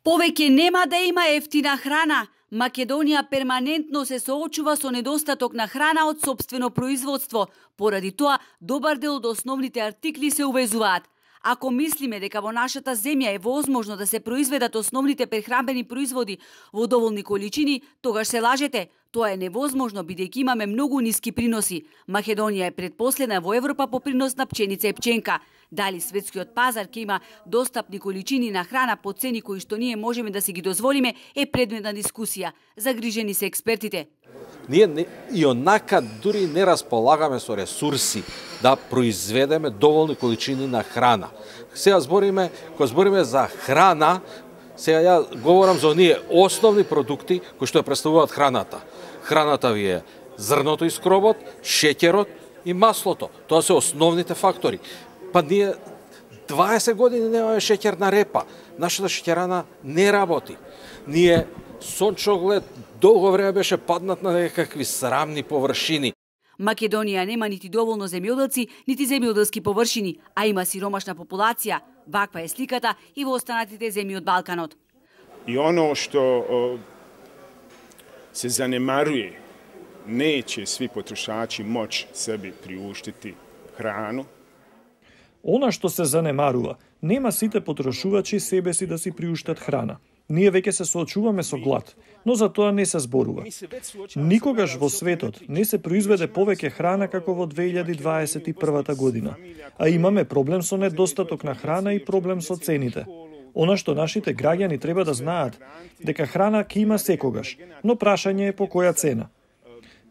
Повеќе нема да има ефтина храна. Македонија перманентно се соочува со недостаток на храна од сопствено производство. Поради тоа, добар дел од основните артикли се увезуваат. Ако мислиме дека во нашата земја е возможно да се произведат основните прехранбени производи во доволни количини, тогаш се лажете. Тоа е невозможно бидејќи имаме многу ниски приноси. Македонија е предпоследна во Европа по принос на пченица и пченка. Дали светскиот пазар ќе има достапни количини на храна по цени кои што ние можеме да си ги дозволиме е предмет на дискусија. Загрижени се експертите. Ние и онака дури не располагаме со ресурси да произведеме доволни количини на храна. Сега кога збориме за храна, сега ја говорам за оние основни продукти кои што ја представуваат храната. Храната ви е зрното и скробот, шеќерот и маслото. Тоа се основните фактори. Па ние 20 години немаме шеќерна репа. Нашата шеќерана не работи. Ние сончоглед долго време беше паднат на некакви срамни површини. Македонија нема нити доволно земјоделци, нити земјоделски површини, а има сиромашна популација. Ваква е сликата и во останатите земји од Балканот. И оно што се занемарuje, неće svi potrošači moći sebi priuštiti hranu. Она што се занемарува, нема сите потрошувачи себе си да си приуштат храна. Ние веќе се соочуваме со глад, но за тоа не се зборува. Никогаш во светот не се произведе повеќе храна како во 2021 година, а имаме проблем со недостаток на храна и проблем со цените. Она што нашите граѓани треба да знаат, дека храна ќе има секогаш, но прашање е по која цена.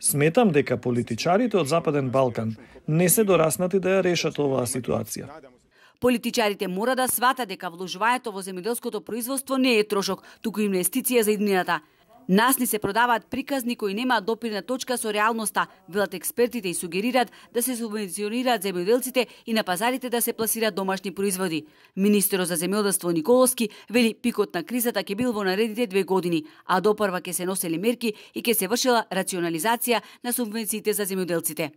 Сметам дека политичарите од Западен Балкан не се дораснати да ја решат оваа ситуација. Политичарите мора да сватат дека вложувањето во земјоделското производство не е трошок, туку инвестиција за иднината. Нас ни се продаваат приказни кои немаат допирна точка со реалноста, велат експертите и сугерираат да се субвенционираат земјоделците и на пазарите да се пласираат домашни производи. Министерот за земјоделство Николовски вели пикот на кризата ќе бил во наредните 2 години, а допрва ќе се носели мерки и ќе се вршила рационализација на субвенциите за земјоделците.